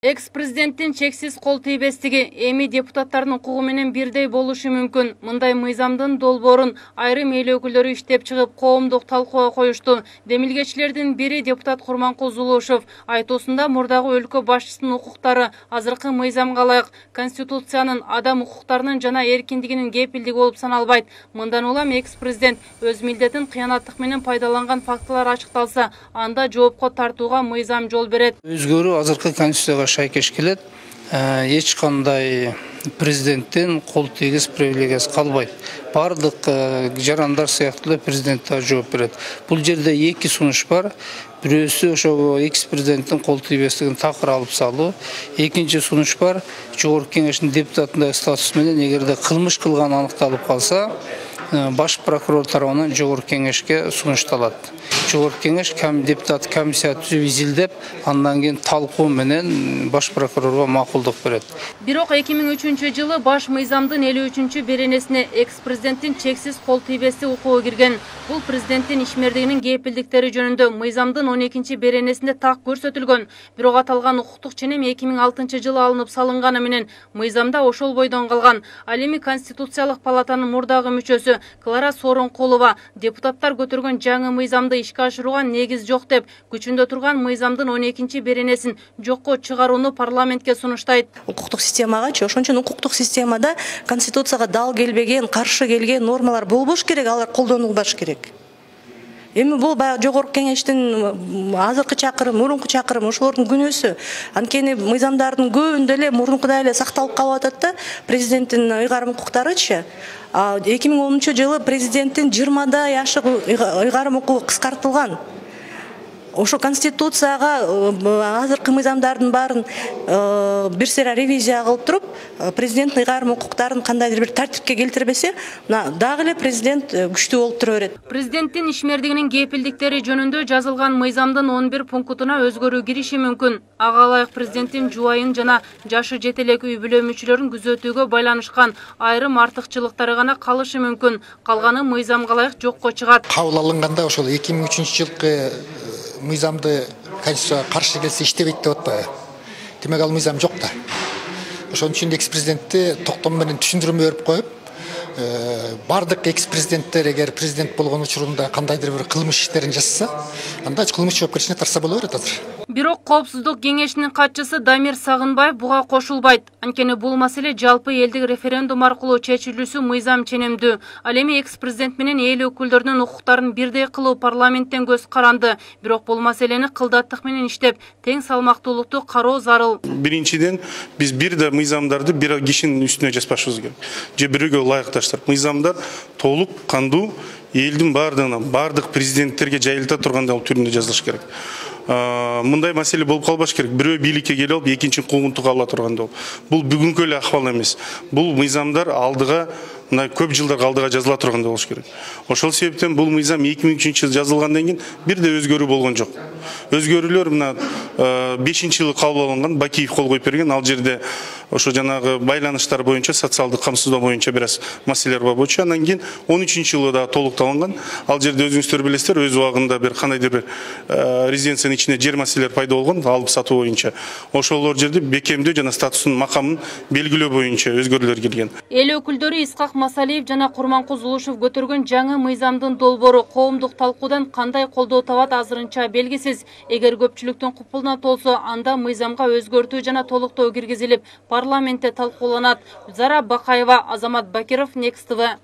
Экс-президенттин чексиз кол тийбестиги эми депутаттардын укугу менен бирдей болушу мүмкүн. Мындай мыйзамдын долбоорун айрым эл өкүлдөрү иштеп чыгып, коомдук талкууга коюшту. Демилгечилердин бири депутат Курманкул Зулушев айтуусунда мурдагы өлкө башчысынын укуктары азыркы мыйзамга ылайык Конституциянын адам укуктарынын жана эркиндигинин кепилдиги болуп саналбайт. Мындан улам экс-президент өз милдетин кыянаттык менен пайдаланган фактылар ачыкталса, анда жоопко тартууга мыйзам жол берет. Өзгөрүү азыркы Конституцияга шайкеш келет. Эч кандай президенттен кол тийгиз привилегиясы калбайт. Бардык жарандар сыяктуу президент да жооп берет. Бул жерде эки сунуш бар. Бирөөсү ошо экс-президенттин кол тийбестигин такыр алып салуу. Экинчи сунуш бар. Жогорку кеңештин депутатындагы статус менен эгерде кылмыш кылган аныкталып калса, баш прокурор тарабынан жогорку кеңешке сунушталат. Жогорку кеңеш депутат комиссия түзүп изилдеп, андан кийин талкуу менен баш прокурорго макулдук берет. Бирок 2003-жылы баш мыйзамдын 53-беренесине экс-президенттин чексиз кол тийбестик укугу кирген. Бул президенттин ишмердигинин кепилдиктери жөнүндө мыйзамдын 12-беренесинде так көрсөтүлгөн. Бирок аталган укуктук ченем 2006-жылы алынып салынганы менен мыйзамда ошол бойдон калган. Ал эми Конституциялык палатанын мурдагы мүчөсү Клара Сооронкулова депутаттар көтөргөн жаңы мыйзамды ишке ашырууга негиз жок деп, күчүндө турган мыйзамдын 12-беренесин жокко чыгарууну парламентке сунуштайт. Укуктук системагачы, ошон үчүн укуктук системада Конституцияга дал келбеген, каршы келген нормалар болбош керек, алар колдонулбаш керек. Эми бул баягы жогорку кеңештин азыркы чакырым, мурунку чакырым ошолордун күнөөсү. Анткени мыйзамдардын көбүндө эле мурункудай эле сакталып калып атат да, президенттин ыйгарым укуктарычы. 2010-жылы президенттин 20-дай ашык ыйгарым укугу кыскартылган. Ошо Конституцияга азыркы мыйзамдардын баарын бир сыйра ревизия кылып туруп, президенттин ыйгарым укуктарын кандайдыр бир тартипке келтирбесе, дагы эле президент күчтүү болуп тура берет. Президенттин ишмердигинин кепилдиктери жөнүндө жазылган мыйзамдын 11 пунктуна өзгөрүү кириши мүмкүн. Ага ылайык президенттин жубайын жана жашы жете элек үй бүлө мүчөлөрүн күзөтүүгө байланышкан айрым артыкчылыктары гана калышы мүмкүн. Калганы мыйзамга ылайык жокко чыгат. Кабыл алынганда ошол 2003-жылкы мыйзамды Конституцияга каршы келсе иштебейт деп атпайбы. Демек ал мыйзам жок да. Ошон үчүн экс-президентти токтом менен түшүндүрмө берип коюп, бардык экс-президенттер эгер президент болгон учурунда кандайдыр бир кылмыш иштерин жасаса, анда кылмыш жоопкерчилигине тарса боло берет азыр. Бирок Коопсуздук кеңешинин катчысы Дамир Сагынбаев буга кошулбайт. Анткени бул маселе жалпы элдик референдум аркылуу чечилүүсү мыйзам ченемдүү. Ал эми экс-президент менен эл өкүлдөрүнүн укуктарын бирдей кылуу парламенттен көз каранды. Бирок бул маселени кылдаттык менен иштеп, тең салмактуулукту кароо зарыл. Биринчиден, биз бир да мыйзамдарды бир кишинин үстүнө жазбашыбыз керек. Же бирөөгө ылайыкташтырып, мыйзамдар толук кандуу элдин бардык президенттерге жайылта тургандай түрүндө жазылыш керек. Мындай маселе болуп калбаш керек. Бирөө бийликке келип алып, экинчи куугунтук ала тургандай болуп. Бул бүгүнкү эле акыбал эмес. Бул мыйзамдар алдыга, мына көп жылдар алдыга жазыла тургандай болуш керек. Ошол себептен бул мыйзам 2003-жылы жазылгандан кийин бир да өзгөрүү болгон жок. Өзгөрүүлөр мына 5-жылы кабыл алынган, Бакиев кол коюп берген, ал жерде ошо жанагы байланыштар боюнча, социалдык камсыздоо боюнча бир аз маселелер бар болчу. Андан кийин 13-жылы да толукталган. Ал жерде өзүңүздөр билесиздер, өз убагында бир кандайдыр бир резиденциянын ичинде жер маселелер пайда болгон, алып сатуу боюнча. Ошолор жерде бекемдөө жана статусун, макамын белгилөө боюнча өзгөрүүлөр келген. Эл өкүлдөрү Исхак Масалиев жана Курманкул Зулушев көтөргөн жаңы мыйзамдын долбоору коомдук талкуудан кандай колдоо табат азырынча белгисиз. Эгер көпчүлүктүн купулуна толсо, анда мыйзамга өзгөртүү жана толуктоо киргизилип, парламентте талкууланат. Зара Бакаева, Азамат Бакиров, Next TV.